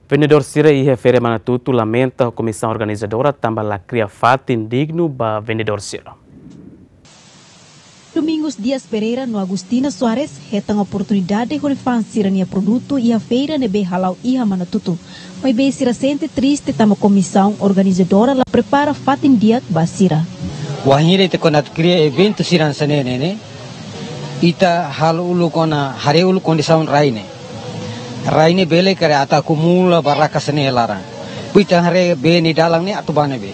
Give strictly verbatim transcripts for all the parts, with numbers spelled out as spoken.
Vendedór sira iha Feira Manatutu lamenta ho komisaun organizadora tanba la kria fatin dignu ba vendedór sira. Domingos Dias Pereira no Agostina Soares hetan oportunidade hodi fa'an sira-nia produtu iha feira ne'ebé hala'o iha Manatutu. Maibé sira sente triste tanba komisaun organizadora la prepara fatin di'ak ba sira. Wainhira ita kuandu atu kria eventu sira hanesan ne'e ne'e, ita halo uluk ona haree uluk kondisaun rai ne'e. Rai ne'e bele karik atu akumula barraka sira-ne'e iha laran. Depois ita haree bee nia dalan ne'e atu ba ne'ebé.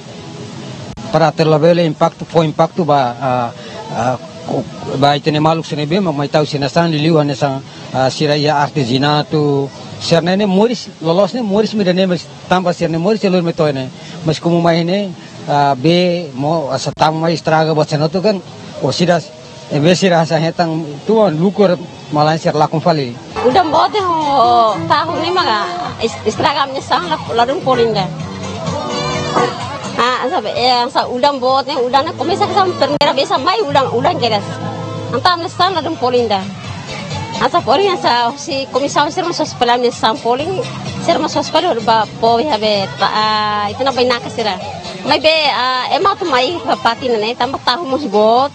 Para atu labele impaktu, fó impaktu ba, ah, ah, ko-, ba ita-nia maluk sira ne'ebé mak mai tau sira-nia sasán, liuliu hanesan, ah, sira iha artezanatu, sira-ne'e ne'e moris, loloos ne'e moris mak ida-ne'e, mas tanba sira-ne'e moris iha lori mai to'o ne'e. Mas komu mai ne'e, ah, bee mós asa tama mai estraga buat sira-ne'e hotu kan, o sira, em vez sira hanesan hetan tuan lukur, malae sira lakon fali. Udan boot ne'e ho tahu ne'e maka es-, estraga ami-nia sasán la, ladún folin ida. Ah, sabe, eh, hanesan udan boot ne'e, udan ne'e komesa hanesan primeira vez mai udan, udan kedas. Entaun ami-nia sasán ladún folin ida. Hanesan folin hanesan husi komisaun sira mós sosa fali ami-nia sasán folin, sira mós sosa fali hodi ba fó iha be, ta-, ah, ita-nia bainaka sira. Maibé, ah, ema atu mai ba fatin ne'e, tanba tahu mós boot,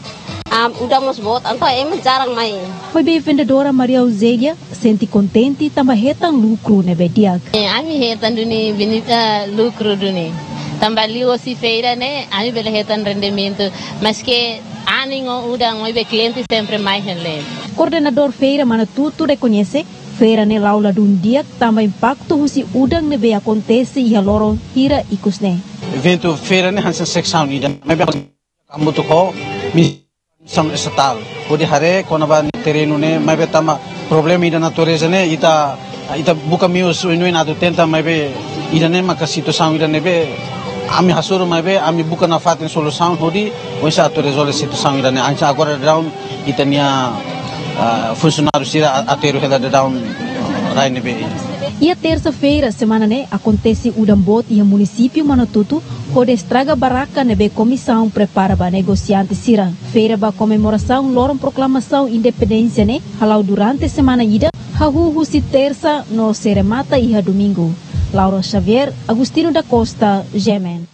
ah, udan mós boot, entaun ema jarang mai. Maibé vendedora Maria Eugélia sente kontente tanba hetan lukru ne'ebé di'ak. Eh, ami hetan duni beni-, eh, lukru duni. Tanba liuhosi feira ne'e, ami bele hetan rendimentu. Maske anin ho udan, maibé kliente sempre mai hela. Koordenadór Feira Manatutu rekoñese, feira ne'e la'o ladún di'ak tanba impaktu husi udan ne'ebé akontese iha loron hira ikus ne'e. Eventu feira ne'e hanesan seksaun ida. Maibé hamutuk ho mi-, komisaun estatál hodi haree kona-ba nia terrenu ne'e, maibé tanba problema ida natureza ne'e, ita, ita buka meius oioin atu tenta, maibé ida-ne'e maka situasaun ida ne'ebé ami hasoru, maibé ami buka nafatin solusaun hodi oinsá atu rezolve situasaun ida-ne'e. Hanesan agora daudaun ita-nia, ah, funsionáriu sira a-, aterru hela daudaun rai ne'ebé. Iha tersa-feira semana ne'e akontese udan boot iha munisípiu Manatutu, hodi estraga barraka ne'ebé komisaun prepara ba negosiante sira. Feira ba komemorasaun loron proklamasaun independénsia ne'e hala'o durante semana ida, hahú husi tersa no sei remata iha domingu. Laura Xavier, Agostinho da Costa, G M N.